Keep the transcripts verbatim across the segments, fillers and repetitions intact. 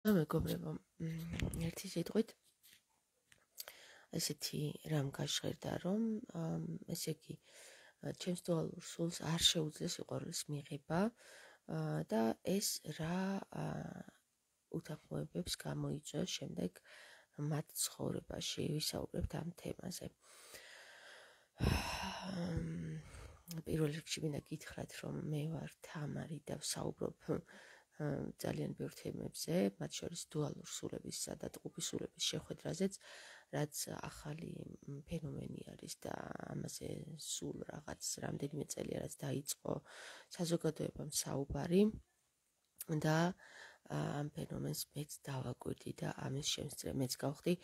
მეგობრებო, ერთი სიტყვით ესეთი რამ გაშღერდა, რომ ესე იგი ჩემს დუალურ სულს არ შეუძლეს სიყვარულის მიღება და ეს რა უთანხმოებებს გამოიწვევს შემდეგ მათ ცხოვრებაში. ვისაუბრებთ ამ თემაზე. პირველ რიგში მინდა გითხრათ, რომ მე ვარ თამარი და ვსაუბრობ ძალიან ბევრ თემებზე, მათ შორის დუალურ სულებისა და ტყუპის სულების შეხვედრაზეც, რაც ახალი ფენომენი არის და ამაზე სულ რაღაც რამდენიმე წელია რაც დაიწყო საზოგადოებამ საუბარი და ამ ფენომენს მეც დავაკვირდი და ამის შემსწრე მეც გავხდი,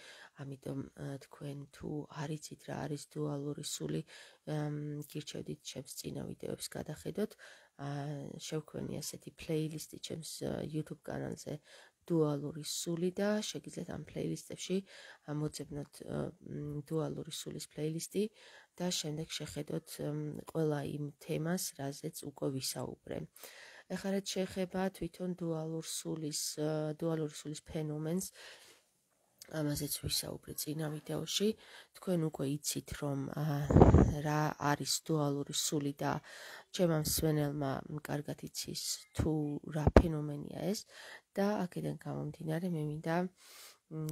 ამიტომ თქვენ თუ არ იცით რა არის დუალური სული, გირჩევდით ჩემს წინა ვიდეოებს გადახედოთ. შევქმნი ასეთი პლეილისტი ჩემს YouTube კანალზე დუალური სული და შეგიძლიათ ამ პლეილისტებში მოძებნოთ დუალური სულის პლეილისტი და შემდეგ შეხედოთ ყველა იმ თემას, რაზეც უკვე ვისაუბრე. ეხლა რაც შეეხება თვითონ დუალურ სულის, დუალური სულის ფენომენს, ამაზეც ვისაუბრე წინა ვიდეოში. თქვენ უკვე იცით, რომ რა არის დუალური სული და ჩემმა მსმენელმა კარგად იცის თუ რა ფენომენია ეს და აქედან გამომდინარე მე მინდა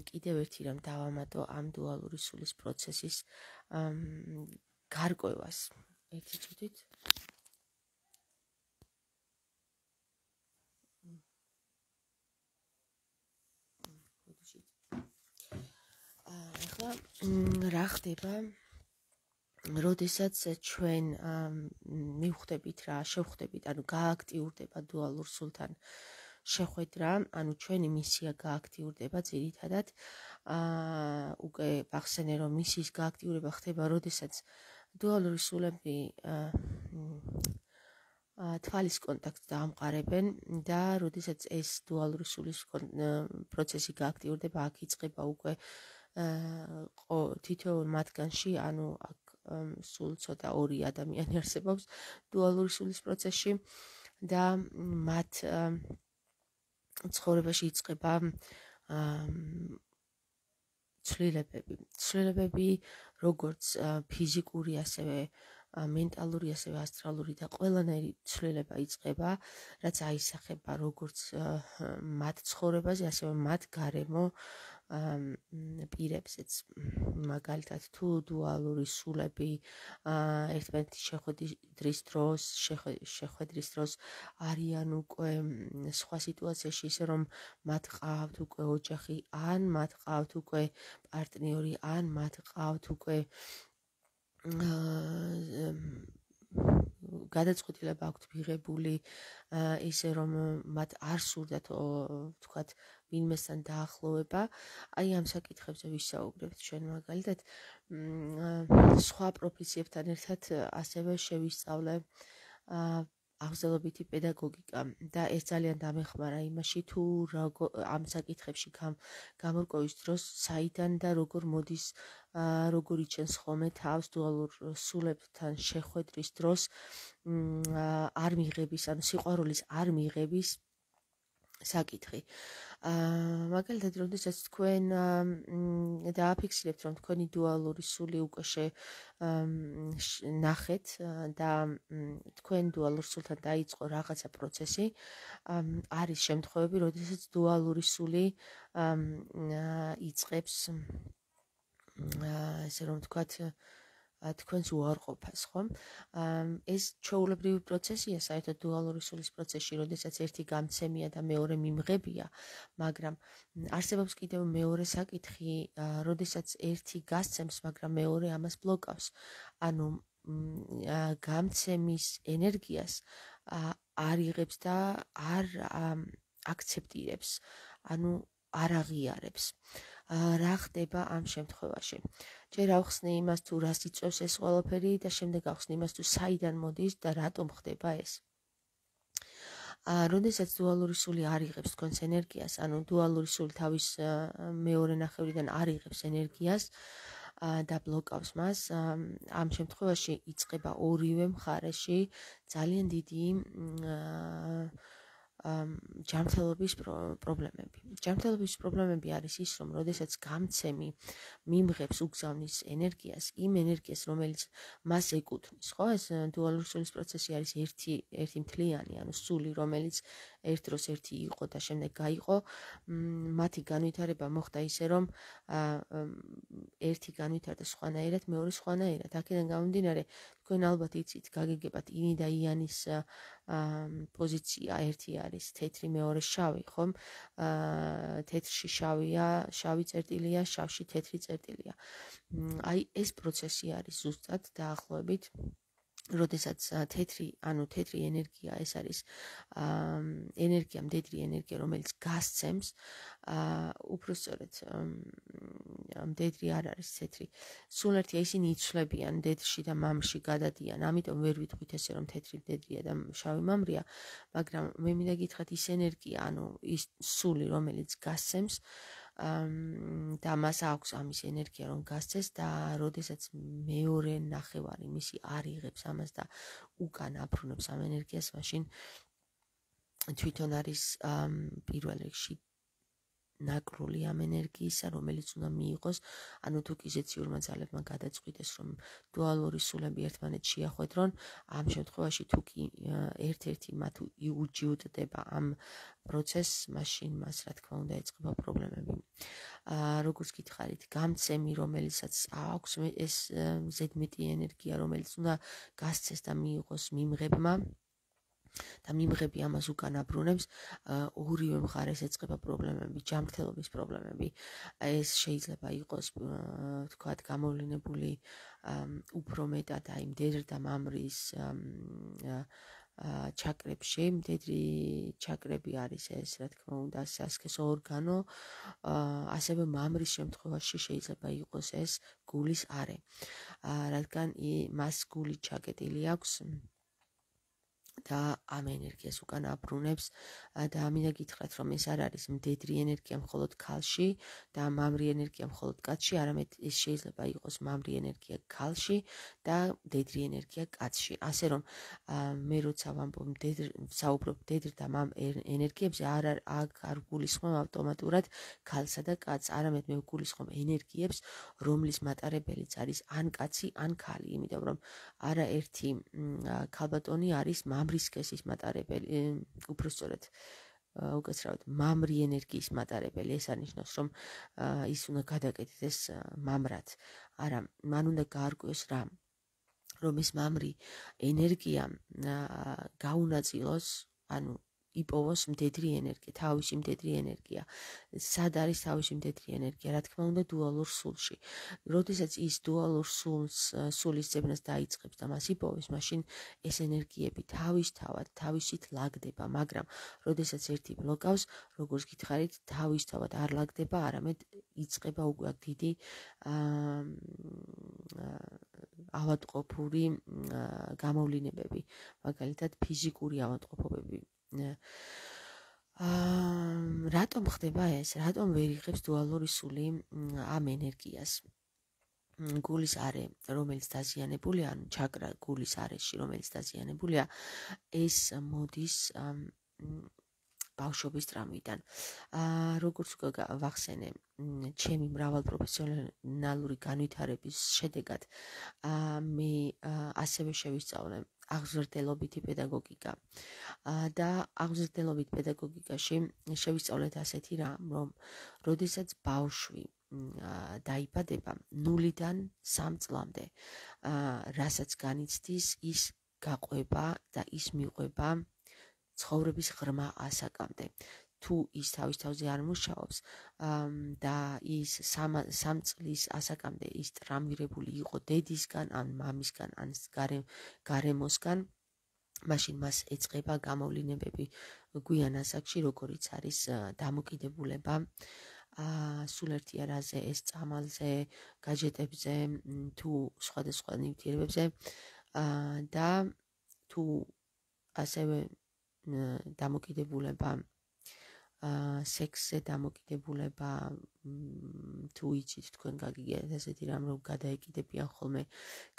კიდევ ერთი რამ დავამატო ამ დუალური სულის პროცესის გარკვევას. ერთი წუთით. ახლა რა ხდება, როდესაც ჩვენ მივხვდებით რა, შევხვდებით, ანუ გააქტიურდება დუალურ სულთან შეხვედრა, ანუ ჩვენი მისია გააქტიურდება ძირითადად. უკვე ვახსენე, რომ მისიის გააქტიურება ხდება, როდესაც დუალური სულები თვალის კონტაქტს დაამყარებენ და როდესაც ეს დუალური სულის პროცესი გააქტიურდება, აქ იწყება უკვე თითოეულ მათგანში, ანუ აქ სულ ცოტა ორი ადამიანი არსებობს დუალური სულის პროცესში და მათ ცხოვრებაში იწყება ცვლილებები. ცვლილებები როგორც ფიზიკური, ასევე მენტალური, ასევე ასტრალური და ყველანაირი ცვლილება იწყება, რაც აისახება როგორც მათ ცხოვრებაზე, ასევე მათ გარემო პირებზეც. მაგალითად, თუ დუალური სულები ერთმანეთის შეხვედრის დროს, შეხვედრის დროს არიან უკვე სხვა სიტუაციაში, ისე რომ მათ ყავთ უკვე ოჯახი, ან მათ ყავთ უკვე პარტნიორი, ან მათ ყავთ უკვე გადაწყვეტილება აქვთ მიღებული, ისე რომ მათ არ სურდათ ვთქვათ ვინმესთან დაახლოვება. აი ამ საკითხებზე ვისაუბრებთ ჩვენ მაგალითად. სხვა პროფესიებთან ერთად ასევე შევისწავლე აღზრდობითი პედაგოგიკა და ეს ძალიან დამეხმარა იმაში, თუ ამ საკითხებში გამორკვევის დროს საიდან და როგორ მოდის, როგორ იჩენს ხოლმე თავს დუალურ სულებთან შეხვედრის დროს არ მიღების, ანუ სიყვარულის არ მიღების საკითხი. მაგალითად, როდესაც თქვენ დააფიქსირებთ, რომ თქვენი დუალური სული უკვე ნახეთ და თქვენ დუალურ სულთან დაიწყო რაღაცა პროცესი, არის შემთხვევები, როდესაც დუალური სული იწყებს, ესე რომ ვთქვათ, თქვენს უარყოფას, ხო? ეს ჩვეულებრივი პროცესია საერთოდ დუალური სულის პროცესში, როდესაც ერთი გამცემია და მეორე მიმღებია, მაგრამ არსებობს კიდევ მეორე საკითხი, როდესაც ერთი გასცემს, მაგრამ მეორე ამას ბლოკავს. ანუ გამცემის ენერგიას არ იღებს და არ აქცეპტირებს, ანუ არ აღიარებს. რა ხდება ამ შემთხვევაში? ჯერ ავხსნე იმას, თუ რას იწვევს ეს ყველაფერი და შემდეგ ავხსნე იმას, თუ საიდან მოდის და რატომ ხდება ეს. როდესაც დუალური სული არ იღებს თქვენს ენერგიას, ანუ დუალური სული თავის მეორე ნახევრიდან არ იღებს ენერგიას და ბლოკავს მას, ამ შემთხვევაში იწყება ორივე მხარეში ძალიან დიდი ჯანმრთელობის პრობლემები. ჯანმრთელობის პრობლემები არის ის, რომ როდესაც გამცემი მიმღებს უგზავნის ენერგიას, იმ ენერგიას, რომელიც მას ეკუთვნის, ხო, ეს დუალური სულის პროცესი არის ერთი ერთი მთლიანი, ანუ სული, რომელიც ერთ დროს ერთი იყო და შემდეგ გაიყო, მათი განვითარება მოხდა ისე, რომ ერთი განვითარდა სხვანაირად, მეორე სხვანაირად. აქედან გამომდინარე, თქვენ ალბათ იცით, გაგიგებათ ინი და იანის პოზიცია, ერთი არის თეთრი, მეორე შავი, ხომ? თეთრში შავია, შავი წერტილია, შავში თეთრი წერტილია. აი ეს პროცესი არის ზუსტად დაახლოებით, როდესაც თეთრი, ანუ თეთრი ენერგია, ეს არის ენერგია, მდედრი ენერგია, რომელიც გასცემს, უпростоრეთ მდედრი არ არის თეთრი. სულ ერთია, ისინი იცვლებიან მდედრში და მამრში გადადიან, ამიტომ ვერ ვიტყვით ესე, რომ თეთრი მდედრია და შავი მამრია, მაგრამ მე მინდა გითხრათ ის ენერგია, ანუ ის სული, რომელიც გასცემს და მას აქვს ამის ენერგია, რომ გასცეს და როდესაც მეორე ნახევარი მისი არ იღებს ამას და უკან აბრუნებს ამ ენერგიას, მაშინ თვითონ არის პირველ რიგში ნაკრული ამ ენერგიისა, რომელიც უნდა მიიღოს, ანუ თუ კი ზეციურმა ძალებმა გადაწყვიტეს, რომ დუალური სულები ერთმანეთს შეახვედრონ, ამ შემთხვევაში თუ კი ერთ-ერთი მათ იუჯიუტდება ამ პროცესს, მაშინ მას რა თქმა უნდა ეწყება პრობლემები. როგორც გითხარით, გამცემი, რომელსაც აქვს ეს ზედმეტი ენერგია, რომელიც უნდა გასცეს და მიიღოს მიმღებმა და მიმღები ამას უკან აბრუნებს, ორივე მხარეს ეწყება პრობლემები, ჯანმრთელობის პრობლემები. ეს შეიძლება იყოს, თქვათ, გამოვლინებული უფრო მეტად აი მდედრ და მამრის ჩაკრებში, მდედრი ჩაკრები არის ეს, რა თქმა უნდა, სასქესო ორგანო, ასევე მამრის შემთხვევაში შეიძლება იყოს ეს გულის არე, რადგან მას გული ჩაკეტილი აქვს და ამ ენერგიას უკან აბრუნებს და მინდა გითხრათ, რომ ეს არ არის მდედრი ენერგია მხოლოდ ქალში და მამრი ენერგია მხოლოდ კაცში, არამედ ეს შეიძლება იყოს მამრი ენერგია ქალში და მდედრი ენერგია კაცში. ასე რომ მე როცა ვამბობ მდედრ, საუბრობ მდედრ და მამ ენერგიებზე, არ არ გულისხმობ ავტომატურად ქალსა და კაცს, არამედ მე ვგულისხმობ ენერგიებს, რომლის მატარებელიც არის ან კაცი, ან ქალი, იმიტომ რომ არაერთი ქალბატონი არის მამრის სქესის მატარებელი, უпростоრეთ უკაცრავად მამრი ენერგიის მატარებელი. ეს არნიშნავს, რომ ის უნდა გადაკეთდეს მამრად. არა, მან უნდა გაარკვიოს რა, რომ ეს მამრი ენერგია გაუნაწილოს, ანუ იპოვოს მდედრი ენერგია, თავისი მდედრი ენერგია. სად არის თავისი მდედრი ენერგია? რა თქმა უნდა, დუალურ სულში. როდესაც ის დუალურ სულს, სულის ძებნას დაიწყებს და მას იპოვებს, მაშინ ეს ენერგიები თავისთავად, თავისით ლაგდება, მაგრამ როდესაც ერთი ბლოკავს, როგორც გითხარით, თავისთავად არ ლაგდება, არამედ იწყება უკვე დიდი ავადმყოფური გამოვლინებები, მაგალითად ფიზიკური ავადმყოფობები. რატომ ხდება ეს? რატომ ვერ იღებს დუალური სული ამ ენერგიას? გულის არე, რომელიც დაზიანებულია, ანუ ჩაკრა გულის არეში, რომელიც დაზიანებულია, ეს მოდის ბავშვობის ტრამვიდან. როგორც ვახსენე, ჩემი მრავალპროფესიონალური განვითარების შედეგად მე ასევე შევისწავლე აღზრდელობითი პედაგოგიკა და აღზრდელობით პედაგოგიკაში შევისწავლეთ ასეთი რამ, რომ როდესაც ბავშვი დაიბადება ნულიდან სამ წლამდე, რასაც განიცდის, ის გაყვება და ის მიყვება ცხოვრების ღრმა ასაკამდე. თუ ის თავის თავზე არ მუშაობს და ის სამ წლის ასაკამდე ის ტრამვირებული იყო დედისგან, ან მამისგან, ან გარემოსგან, მაშინ მას ეწყება გამოვლინებები გვიან ასაკში, როგორიც არის დამოკიდებულება სულ ერთი არაზე, ეს წამალზე, გაჯეტებზე, თუ სხვადასხვა ნივთიერებებზე და თუ ასევე დამოკიდებულება სექსზე, დამოკიდებულება, თუ იცით, თქვენ გაგიგეთ ესეთი რამ, რომ გადაეკიდებიან ხოლმე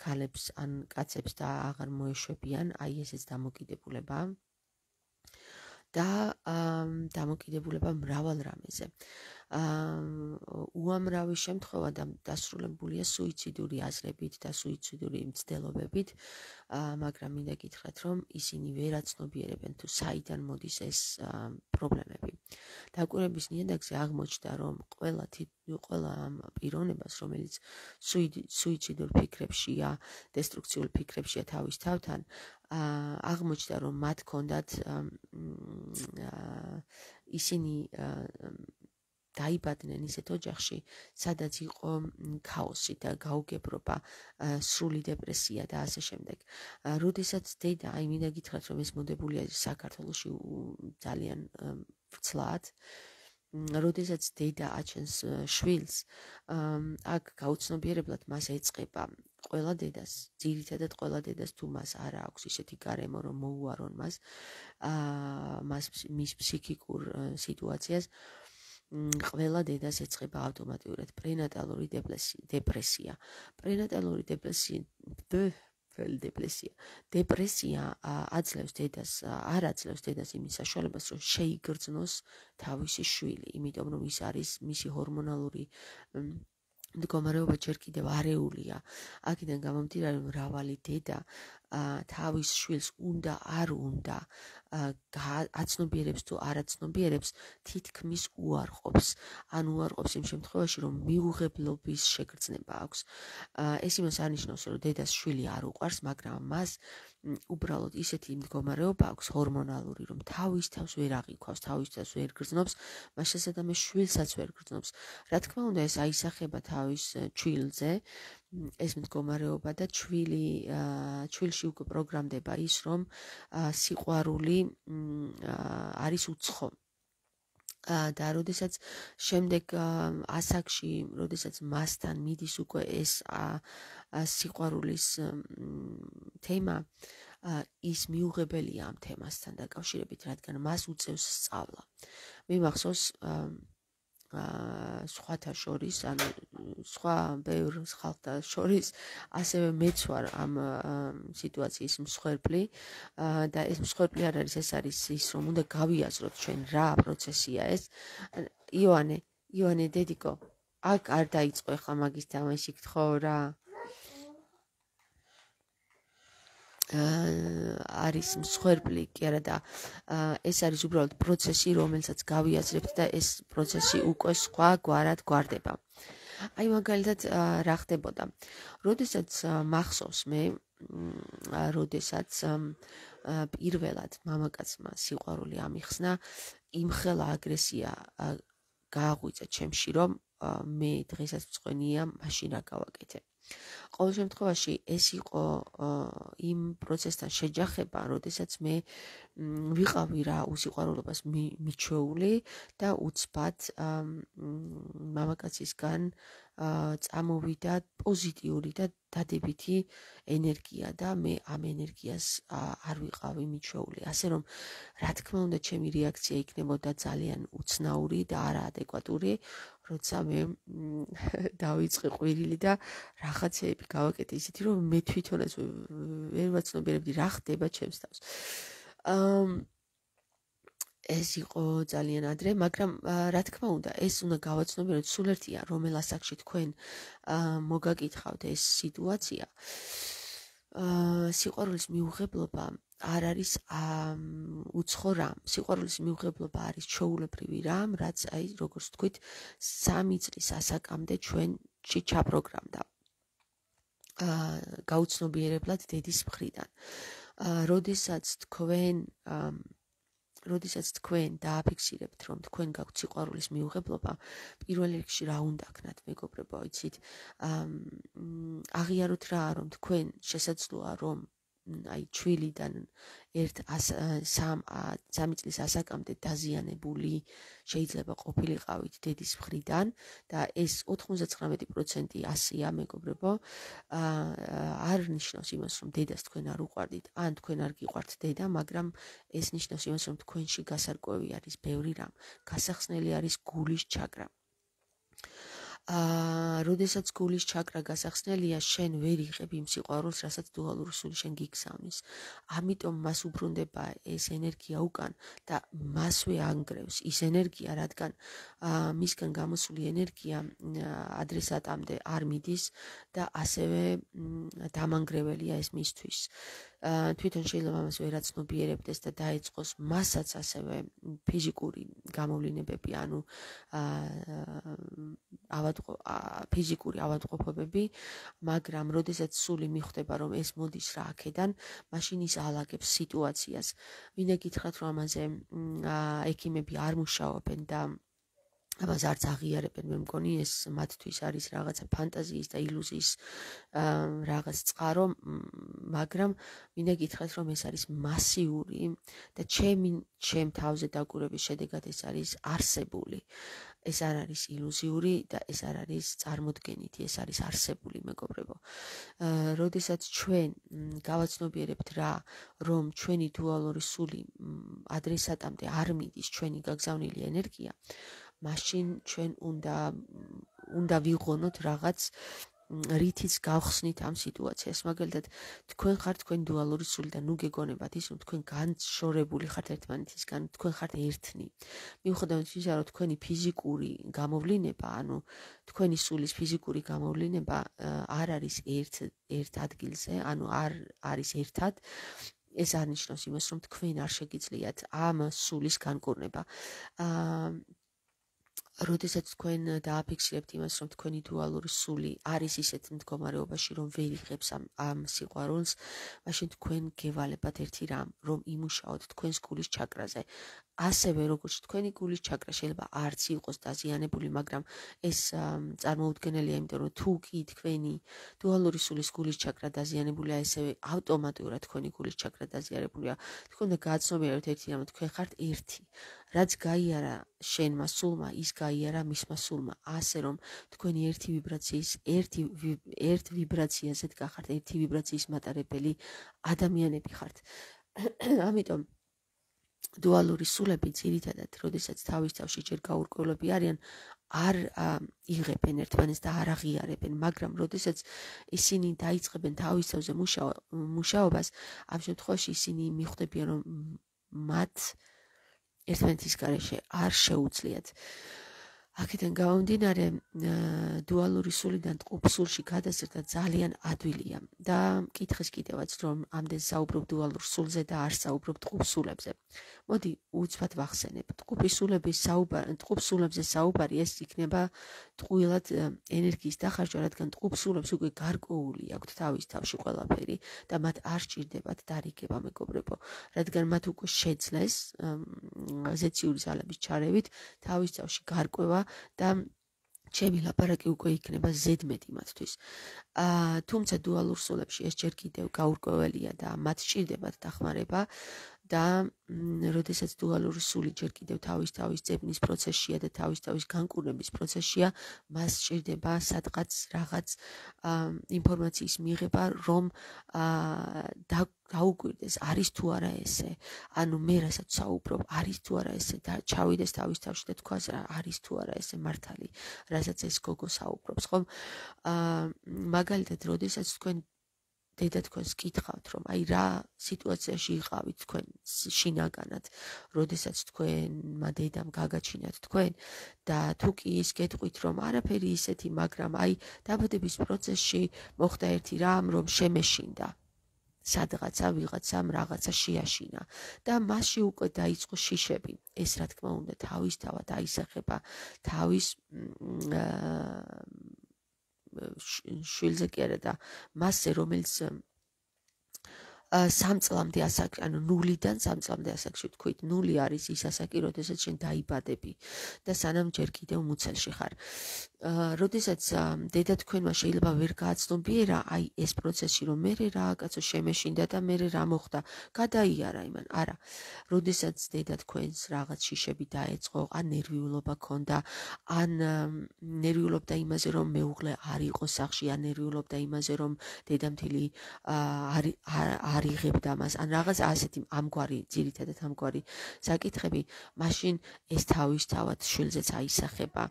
ქალებს ან კაცებს და აღარ მოეშვებიან, აი ესეც დამოკიდებულება და დამოკიდებულება მრავალ რამეზე. უამრავი შემთხვევა დასრულებულია სუიციდური აზრებით და სუიციდური მცდელობებით, მაგრამ მინდა გითხრათ, რომ ისინი ვერ აცნობიერებენ თუ საიდან მოდის ეს პრობლემები. დაკვირვების ნიადაგზე აღმოჩნდა, რომ ყველა ყველა ამ პიროვნებას, რომელიც სუიციდურ ფიქრებშია, დესტრუქციულ ფიქრებშია თავის თავთან, აღმოჩნდა, რომ მათ ჰქონდათ ისინი დაიბადნენ ისეთ ოჯახში, სადაც იყო ქაოსი და გაუგებრობა, სრული დეპრესია და ასე შემდეგ. როდესაც დედა, აი მინდა გითხრათ, რომ ეს მოდებულია საქართველოში ძალიან ვრცლად, როდესაც დედა აჩენს შვილს, აქ გაუცნობიერებლად მას ეწყება ყველა დედას, ძირითადად ყველა დედას თუ მას არ აქვს ისეთი გარემო, რომ მოუარონ მას, მას მის ფსიქიკურ სიტუაციას, ყველა დედას ეწყება ავტომატურად პრენატალური დეპრესია. პრენატალური დეპრესია დეპრესია. დეპრესია აძლევს დედას, არ აძლევს დედას იმის საშუალებას, რომ შეიგრძნოს თავისი შვილი, იმიტომ რომ ის არის მისი ჰორმონალური მდგომარეობა ჯერ კიდევ არეულია. აქედან გამომდინარე, მრავალი დედა თავის შვილს უნდა არ უნდა აცნობიერებს თუ არ აცნობიერებს, თითქმის უარყოფს. ან უარყოფს იმ შემთხვევაში, რომ მიუღებლობის შეგრძნება აქვს. ეს იმას არნიშნავს, რომ დედას შვილი არ უყვარს, მაგრამ მას უბრალოდ ისეთი მდგომარეობა აქვს ჰორმონალური, რომ თავის თავს ვერ აღიქვავს, თავის თავს ვერ გრძნობს, მას შესაძლოა შვილსაც ვერ გრძნობს. რა თქმა უნდა, ეს აისახება თავის ჩვილზე, ეს მდგომარეობა და ჩვილი ჩვილში უკვე პროგრამდება ის, რომ სიყვარული არის უცხო. და როდესაც შემდეგ ასაკში, როდესაც მასთან მიდის უკვე ეს სიყვარულის თემა, ის მიუღებელია ამ თემასთან დაკავშირებით, რადგან მას უწევს სწავლა. მე მახსოვს სხვათა შორის, ანუ სხვა ბევრ ხალხთა შორის, ასევე მეც ვარ ამ სიტუაციის მსხვერპლი და ეს მსხვერპლი არ არის, ეს არის ის, რომ უნდა გავიაზროთ ჩვენ რა პროცესია ეს. ივანე, ივანე დედიკო, აქ არ დაიწყო ახლა მაგის თამაში, გთხოვ რა. არის მსხვერპლი კი არა და ეს არის უბრალოდ პროცესი, რომელსაც გავიაზრებთ და ეს პროცესი უკვე სხვა გვარად გვარდება. აი მაგალითად რა ხდებოდა. როდესაც მახსოვს მე, როდესაც პირველად მამაკაცმა სიყვარული ამიხსნა, იმხელა აგრესია გააღვიძა ჩემში, რომ მე დღესაც მწყვენია, მაშინ რა გავაკეთე. ყოველ შემთხვევაში ეს იყო იმ პროცესთან შეჯახება, როდესაც მე ვიყავი რა უსიყვარულობას მიჩვეული და უცბად მამაკაცისგან წამოვიდა პოზიტიური და დადებითი ენერგია და მე ამ ენერგიას არ ვიყავი მიჩვეული. ასე რომ, რა თქმა უნდა, ჩემი რეაქცია იქნებოდა ძალიან უცნაური და არაადეკვატური, როცა მე დავიწყე ყვირილი და რაღაცეები გავაკეთე ისეთი, რომ მე თვითონაც ვერ ვაცნობიერებდი რა ხდება ჩემს თავს. ეს იყო ძალიან ადრე, მაგრამ რა თქმა უნდა, ეს უნდა გავაცნობიეროთ, სულ ერთია, რომელ ასაკში თქვენ მოგაკითხავთ ეს სიტუაცია. სიყვარულის მიუღებლობა არ არის უცხო რამ. სიყვარულის მიუღებლობა არის ჩვეულებრივი რამ, რაც აი როგორც თქვით, სამი წლის ასაკამდე ჩვენში ჩაპროგრამდა. გაუცნობიერებლად დედის მხრიდან. როდესაც თქვენ როდესაც თქვენ დააფიქსირებთ, რომ თქვენ გაქვთ სიყვარულის მიუღებლობა, პირველ რიგში რა უნდა ქნათ, მეგობრებო, იცით? აღიაროთ რა, რომ თქვენ შესაძლოა, რომ აი ჩვილიდან ერთ სამი წლის ასაკამდე დაზიანებული შეიძლება ყოფილიყავით დედის მხრიდან და ეს ოთხმოცდათხრამეტი პროცენტი ასეა, მეგობრებო, არ ნიშნავს იმას, რომ დედას თქვენ არ უყვარდით, ან თქვენ არ გიყვართ დედა, მაგრამ ეს ნიშნავს იმას, რომ თქვენში გასარკვევი არის ბევრი რამ, გასახსნელი არის გულის ჩაკრა. აა, როდესაც გულის ჩაკრა გასახსნელია, შენ ვერ იღებ იმ სიყვარულს, რასაც დუალური სული შენ გიგზავნის. ამიტომ მას უბრუნდება ეს ენერგია უკან და მასვე ანგრევს ის ენერგია, რადგან აა, მისგან გამოსული ენერგია ადრესატამდე არ მიდის და ასევე დამანგრეველია ეს მისთვის. თვითონ შეიძლება მას ვერაცნობიერებდეს და დაეწყოს მასაც ასევე ფიზიკური გამოვლინებები, ანუ ავადმყოფ ფიზიკური ავადმყოფობები, მაგრამ როდესაც სული მიხვდება, რომ ეს მოდის რა აქედან, მაშინ ის ალაგებს სიტუაციას. მინდა გითხრათ, რომ ამაზე ექიმები არ მუშაობენ და ამას არც აღიარებენ, მე მგონი ეს მათთვის არის რაღაცა ფანტაზიის და ილუზიის რაღაც წყარო, მაგრამ მინდა გითხრათ, რომ ეს არის მასიური და ჩემი ჩემ თავზე დაკვირვების შედეგად ეს არის არსებული. ეს არ არის ილუზიური და ეს არ არის წარმოდგენითი, ეს არის არსებული, მეგობრებო. როდესაც ჩვენ გავაცნობიერებთ რა, რომ ჩვენი დუალური სული ადრესატამდე არ მიდის ჩვენი გაგზავნილი ენერგია, მაშინ ჩვენ უნდა უნდა ვიღონოთ რაღაც რითიც გავხსნით ამ სიტუაციას. მაგალითად, თქვენ ხართ თქვენ დუალური სული და ნუ გეგონებათ ის, რომ თქვენ განშორებული ხართ ერთმანეთისგან, თქვენ ხართ ერთნი. მიუხედავად ისა, რომ თქვენი ფიზიკური გამოვლინება, ანუ თქვენი სულის ფიზიკური გამოვლინება არ არის ერთ ერთ ადგილზე, ანუ არ არის ერთად, ეს არ ნიშნავს იმას, რომ თქვენ არ შეგიძლიათ ამ სულის განკურნება. აა როდესაც თქვენ დააფიქსირებთ იმას, რომ თქვენი დუალური სული არის ისეთ მდგომარეობაში, რომ ვერ იღებს ამ ამ სიყვარულს, მაშინ თქვენ გევალებათ ერთი რამ, რომ იმუშაოთ თქვენს გულის ჩაკრაზე. ასევე როგორც თქვენი გულის ჩაკრა შეიძლება არც იყოს დაზიანებული, მაგრამ ეს წარმოუდგენელია, იმიტომ რომ თუ კი თქვენი დუალური სულის გულის ჩაკრა დაზიანებულია, ესე ავტომატურად თქვენი გულის ჩაკრა დაზიანებულია. თქვენ უნდა გააცნობიერებთ ერთი რამ, თქვენ ხართ ერთი. რაც გაიარა შენმა სულმა, ის გაიარა მისმა სულმა, ასე რომ თქვენი ერთი ვიბრაციის, ერთი ერთ ვიბრაციაზე დგახართ, ერთი ვიბრაციის მატარებელი ადამიანები ხართ. ამიტომ დუალური სულები ძირითადად, როდესაც თავის თავში ჯერ გაურკვევლები არიან, არ იღებენ ერთმანეთს და არ აღიარებენ, მაგრამ როდესაც ისინი დაიწყებენ თავის თავზე მუშაობას, ამ შემთხვევაში ისინი მიხვდებიან, რომ მათ ერთმანეთის გარეშე არ შეუძლიათ. აქედან გამომდინარე, დუალური სულიდან ტყუპ სულში გადასცემა ძალიან ადვილია და მკითხეს კიდევაც, რომ ამდენ საუბრობ დუალურ სულზე და არ საუბრობ ტყუპ სულებზე. მოდი უცბად ვახსენებ. ტყუპი სულების საუბარი, ტყუპ სულებზე საუბარი ეს იქნება ტყუილად ენერგიის დახარჯვა, რადგან ტყუპ სულებს უკვე გარკვეული აქვთ თავის თავში ყველაფერი და მათ არ სჭირდებათ დარიგება, მეგობრებო, რადგან მათ უკვე შეძლეს ზეციური ძალების ჩარევით თავის თავში გარკვევა და ჩემი ლაპარაკი უკვე იქნება ზედმეტი მათთვის. აა თუმცა დუალურ სულებში ეს ჯერ კიდევ გაურკვეველია და მათ სჭირდებათ დახმარება და როდესაც დუალური სული ჯერ კიდევ თავის თავის ძებნის პროცესშია და თავის თავის განკურნების პროცესშია, მას სჭირდება სადღაც რაღაც ინფორმაციის მიღება, რომ დაუკვირდეს, არის თუ არა ესე, ანუ მე რასაც საუბრობ, არის თუ არა ესე და ჩავიდეს თავის თავში და თქვას რა არის თუ არა ესე მართალი, რასაც ეს გოგო საუბრობს, ხომ? აა მაგალითად, როდესაც თქვენ დედა თქვენს კითხავთ, რომ აი რა სიტუაციაში იყავით თქვენ შინაგანად, როდესაც თქვენმა დედამ გაგაჩინათ თქვენ და თუ კი ის გეტყვით, რომ არაფერი ისეთი, მაგრამ აი დაბადების პროცესში მოხდა ერთი რამ, რომ შემეშინდა. სადღაცა ვიღაცამ რაღაცა შეაშინა და მასში უკვე დაიწყო შიშები. ეს რა თქმა უნდა თავისთავად აისახება თავის შვილზე კი არა და მასზე, რომელიც სამ წლამდე ასაკში, ანუ ნულიდან სამ წლამდე ასაკში ვთქვით, ნული არის ის ასაკი, როდესაც შენ დაიბადები და სანამ ჯერ კიდევ მუცელში ხარ. როდესაც დედა თქვენმა შეიძლება ვერ გააცნობიერა აი ეს პროცესი, რომ მე რა კაცო შემეშინდა და მე რა მოხდა, გადაიარა იმან. არა, როდესაც დედა თქვენს რაღაც შიშები დაეწყო, ან ნერვიულობა ქონდა, ან ნერვიულობდა იმაზე, რომ მეუღლე არ იყო სახლში, ან ნერვიულობდა იმაზე, რომ დედამთილი არ არ არ იღებდა მას, ან რაღაც ასეთი ამგვარი ძირითადად ამგვარი საკითხები, მაშინ ეს თავისთავად შვილზეც აისახება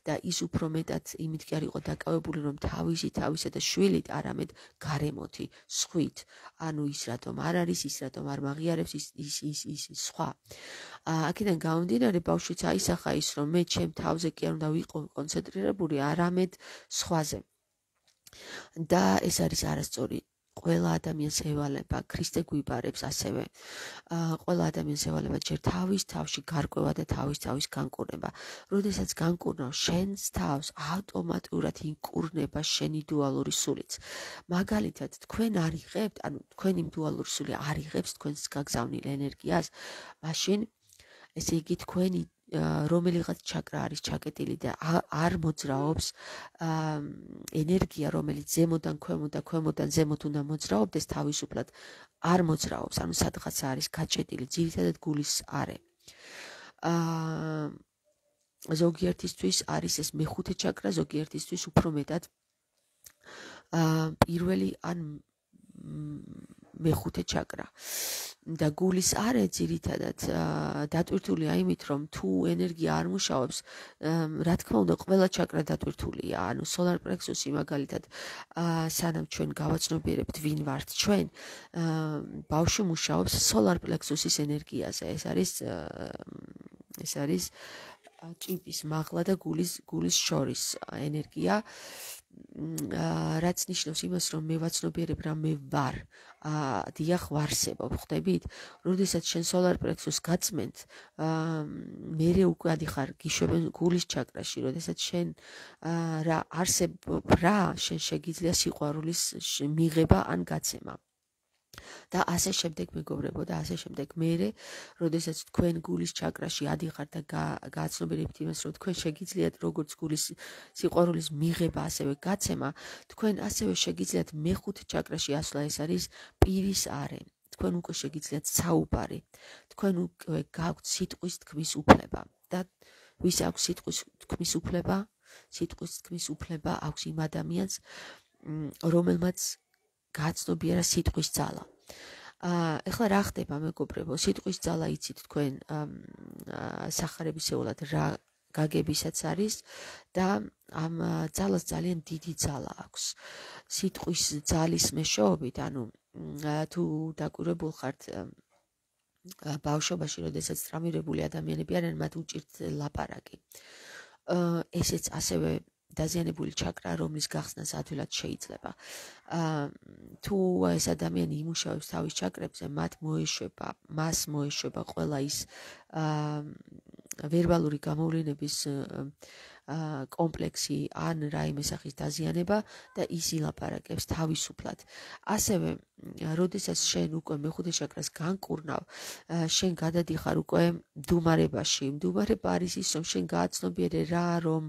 და ის უფრო მეტად იმით კი არ იყო დაკავებული, რომ თავისი თავისა და შვილით, არამედ გარემოთი, სხვით, ანუ ის რატომ არ არის, ის რატომ არ მაღიარებს, ის ის ის ის სხვა. აქედან გამომდინარე ბავშვიც აისახა ის, რომ მე ჩემ თავზე კი არ უნდა ვიყო კონცენტრირებული, არამედ სხვაზე. და ეს არის არასწორი. ყველა ადამიანს ევალება, ქრისტე გვიბარებს ასევე. ყველა ადამიანს ევალება ჯერ თავის თავში გარკვევა და თავის თავის განკურნება. როდესაც განკურნავ შენს თავს, ავტომატურად ინკურნება შენი დუალური სულიც. მაგალითად, თქვენ არ იღებთ, ანუ თქვენი დუალური სული არ იღებს თქვენს გაგზავნილ ენერგიას, მაშინ ესე იგი თქვენი რომელიღაც ჩაკრა არის ჩაკეტილი და არ მოძრაობს ენერგია, რომელიც ზემოდან ქვემოთ და ქვემოდან ზემოთ უნდა მოძრაობდეს, თავისუფლად არ მოძრაობს, ანუ სადღაცა არის გაჭედილი, ძირითადად გულის არე. ზოგიერთისთვის არის ეს მეხუთე ჩაკრა, ზოგიერთისთვის უფრო მეტად პირველი ან მეხუთე ჩაკრა. და გულის არე ძირითადად დატვირთულია იმით, რომ თუ ენერგია არ მუშაობს, რა თქმა უნდა, ყველა ჩაკრა დატვირთულია. ანუ solar plexus-ი მაგალითად, სანამ ჩვენ გავაცნობიერებთ ვინ ვართ ჩვენ, ბავშვი მუშაობს solar plexus-ის ენერგიაზე. ეს არის ეს არის ჭიპის მაღლა და გულის გულის შორის ენერგია. რაც ნიშნავს იმას, რომ მე ვაცნობიერებ რა მე ვარ. დიახ, ვარსებობ, ხვდებით? როდესაც შენ solar plexus გაწმენთ, მერე უკვე ადიხარ გიშვებენ გულის ჩაკრაში, როდესაც შენ რა არსებობ რა, შენ შეგიძლია სიყვარულის მიღება ან გაცემა. და ასე შემდეგ მეგობრებო და ასე შემდეგ მერე, როდესაც თქვენ გულის ჩაკრაში ადიხართ და გააცნობიერებთ იმას, რომ თქვენ შეგიძლიათ როგორც გულის სიყვარულის მიღება, ასევე გაცემა, თქვენ ასევე შეგიძლიათ მეხუთე ჩაკრაში ასვლა, ეს არის პირის არე. თქვენ უკვე შეგიძლიათ საუბარი. თქვენ უკვე გაქვთ სიტყვის თქმის უფლება. და ვის აქვს სიტყვის თქმის უფლება? სიტყვის თქმის უფლება აქვს იმ ადამიანს, რომელმაც გააცნობიერა სიტყვის ძალა. ეხლა რა ხდება მეგობრებო? სიტყვის ძალა იცით თქვენ სახარებისეულად რა გაგებისაც არის და ამ ძალას ძალიან დიდი ძალა აქვს. სიტყვის ძალის მეშვეობით, ანუ თუ დაკვირვებულ ხართ ბავშვობაში, როდესაც ტრამირებული ადამიანები არიან, მათ უჭირთ ლაპარაკი. ესეც ასევე დაზიანებული ჩაკრა, რომლის გახსნას ადვილად შეიძლება. თუ ეს ადამიანი იმუშავებს თავის ჩაკრებზე, მათ მოეშვება, მას მოეშვება ყველა ის ვერბალური გამოვლენების კომპლექსი ან რაიმე სახის დაზიანება და ის ილაპარაკებს თავისუფლად. ასევე, როდესაც შენ უკვე მეხუთე ჩაკრას განკურნავ, შენ გადადიხარ უკვე მდუმარებაში. მდუმარება არის ის, რომ შენ გააცნობიერე რა, რომ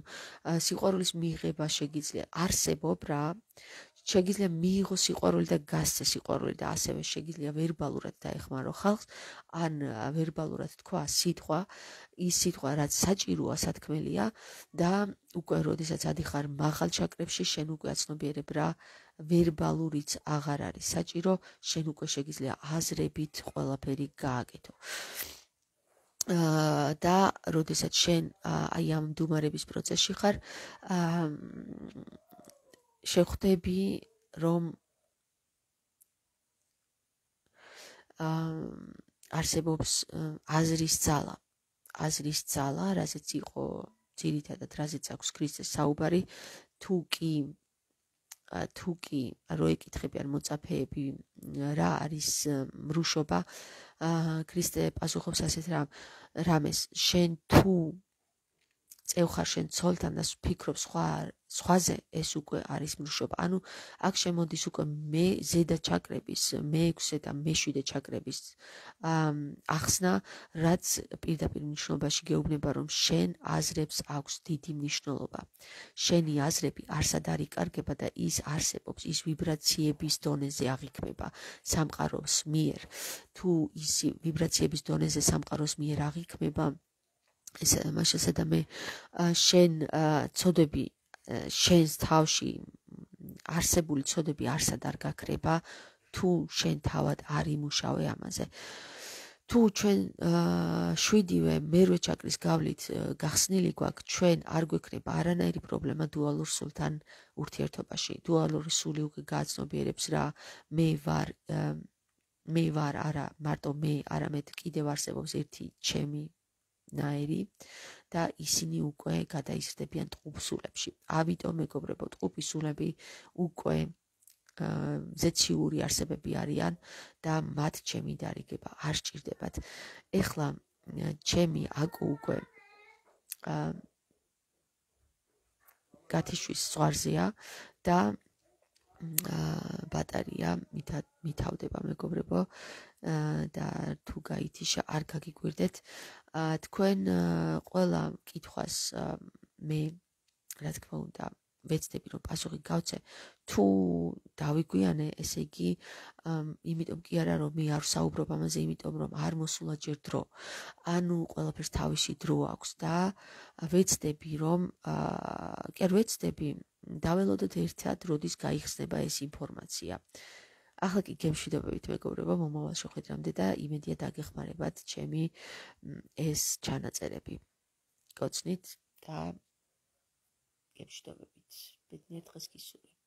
სიყვარულის მიღება შეგიძლია არსებობ რა, შეგიძლია მიიღო სიყვარული და გასცე სიყვარული და ასევე შეგიძლია ვერბალურად დაეხმარო ხალხს, ან ვერბალურად თქვა სიტყვა, ის სიტყვა რაც საჭიროა, სათქმელია და უკვე როდესაც ადიხარ მაღალ ჩაკრებში, შენ უკვე აცნობიერებ რა, ვერბალურიც აღარ არის საჭირო, შენ უკვე შეგიძლია აზრებით ყველაფერი გააკეთო. და როდესაც შენ აი ამ მდუმარების პროცესში ხარ, შეხვდები, რომ არსებობს აზრის ძალა. აზრის ძალა, რაზეც იყო ძირითადად, რაზეც აქვს ქრისტეს საუბარი, თუ კი თუ კი რო ეკითხები ან მოწაფეები რა არის მრუშობა, ქრისტე პასუხობს ასეთ რამეს, შენ თუ წევხარ შენ ცოლთან და ფიქრობ სხვა სხვაზე, ეს უკვე არის მრუშობა. ანუ აქ შემოდის უკვე მე ზედა ჩაკრების, მეექვსე და მეშვიდე ჩაკრების ახსნა, რაც პირდაპირ მნიშვნელობაში გეუბნება, რომ შენ აზრებს აქვს დიდი მნიშვნელობა. შენი აზრები არსად არ იკარგება და ის არსებობს, ის ვიბრაციების დონეზე აღიქმება სამყაროს მიერ. თუ ის ვიბრაციების დონეზე სამყაროს მიერ აღიქმება, ეს მაშასა და მე შენ ცოდები შენს თავში არსებული ცოდები არსად არ გაქრება, თუ შენ თავად არ იმუშავე ამაზე. თუ ჩვენ შვიდივე მერვე ჩაკრის გავლით გახსნილი გვაქვს, ჩვენ არ გვექნება არანაირი პრობლემა დუალურ სულთან ურთიერთობაში. დუალური სული უკვე გააცნობიერებს რა მე ვარ მე ვარ არა მარტო მე, არამედ კიდევ არსებობს ერთი ჩემი ნაირი და ისინი უკვე გადაიზრდებიან ტყუპსულებში. ამიტომ მეგობრებო, ტყუპისულები უკვე ზეციური არსებები არიან და მათ ჩემი დარიგება არ სჭირდებათ. ეხლა ჩემი აკუ უკვე გათიშვის ზღვარზეა და ბატარია მითავდება მეგობრებო და თუ გაითიშა არ გაგიგვირდეთ. თქვენ ყველა კითხვას მე რა თქმა უნდა ვეცდები რომ პასუხი გავცე. თუ დავიგვიანე, ესე იგი იმიტომ კი არა რომ მე არ ვსაუბრობ ამაზე, იმიტომ რომ არ მოსულა ჯერ დრო. ანუ ყველაფერს თავისი დრო აქვს და ვეცდები რომ კი არ ვეცდები დაველოდოთ ერთად როდის გაიხსნება ეს ინფორმაცია. ახლა კი გემშვიდობებით მეგობრებო, მომავალ შეხვედრამდე და იმედია დაგეხმარებათ ჩემი ეს ჩანაწერები. გოცნით და გემშვიდობებით. ბედნიერ დღეს გისურვებ.